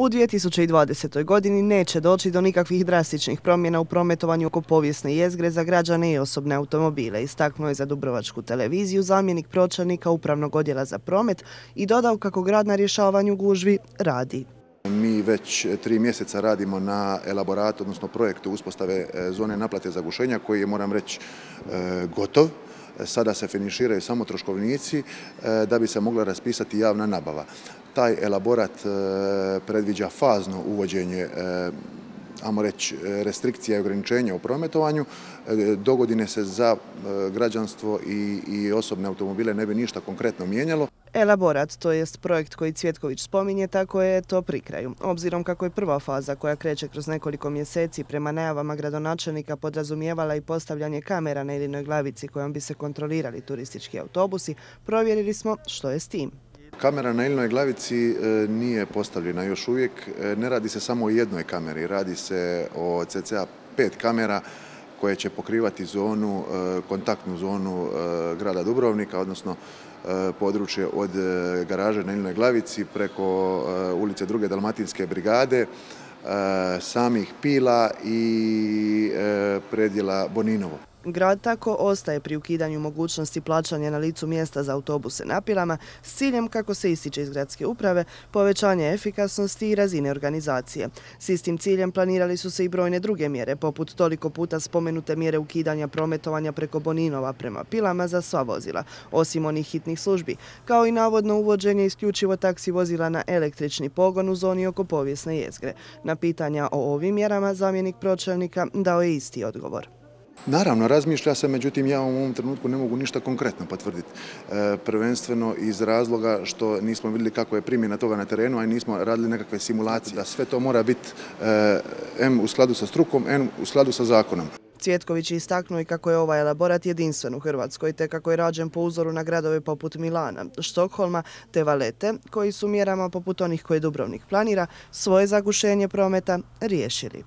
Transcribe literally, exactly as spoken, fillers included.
U dvije tisuće dvadesetoj. godini neće doći do nikakvih drastičnih promjena u prometovanju oko povijesne jezgre za građane i osobne automobile, istaknuo je za Dubrovačku televiziju zamjenik pročelnika Upravnog odjela za promet i dodao kako grad na rješavanju gužvi radi. Mi već tri mjeseca radimo na elaboratu, odnosno projektu uspostave zone naplate zagušenja koji je, moram reći, gotov. Sada se finiširaju samo troškovnici da bi se mogla raspisati javna nabava. Taj elaborat predviđa fazno uvođenje, ajmo reći, restrikcija i ograničenja u prometovanju. Dogodine se za građanstvo i, i osobne automobile ne bi ništa konkretno mijenjalo. Elaborat, to jest projekt koji Cvjetković spominje, tako je to pri kraju. Obzirom kako je prva faza koja kreće kroz nekoliko mjeseci prema najavama gradonačelnika podrazumijevala i postavljanje kamera na Ilinoj Glavici kojom bi se kontrolirali turistički autobusi, provjerili smo što je s tim. Kamera na Ilinoj Glavici nije postavljena još uvijek. Ne radi se samo o jednoj kameri, radi se o cca pet kamera koje će pokrivati zonu, kontaktnu zonu grada Dubrovnika, odnosno područje od garaže na Ilinoj Glavici preko ulice druge Dalmatinske brigade, samih Pila i predjela Boninovo. Grad tako ostaje pri ukidanju mogućnosti plaćanja na licu mjesta za autobuse na Pilama s ciljem, kako se ističe iz gradske uprave, povećanje efikasnosti i razine organizacije. S istim ciljem planirali su se i brojne druge mjere, poput toliko puta spomenute mjere ukidanja prometovanja preko Boninova prema Pilama za sva vozila, osim onih hitnih službi, kao i navodno uvođenje isključivo taksi vozila na električni pogon u zoni oko povijesne jezgre. Na pitanja o ovim mjerama zamjenik pročelnika dao je isti odgovor. Naravno, razmišlja se, međutim ja u ovom trenutku ne mogu ništa konkretno potvrditi. E, prvenstveno iz razloga što nismo vidjeli kako je primjena toga na terenu, a i nismo radili nekakve simulacije. Da sve to mora biti e, em u skladu sa strukom, em u skladu sa zakonom. Cvjetković je istaknuo i kako je ovaj elaborat jedinstven u Hrvatskoj, te kako je rađen po uzoru na gradove poput Milana, Štokholma te Valete, koji su mjerama poput onih koje Dubrovnik planira svoje zagušenje prometa riješili.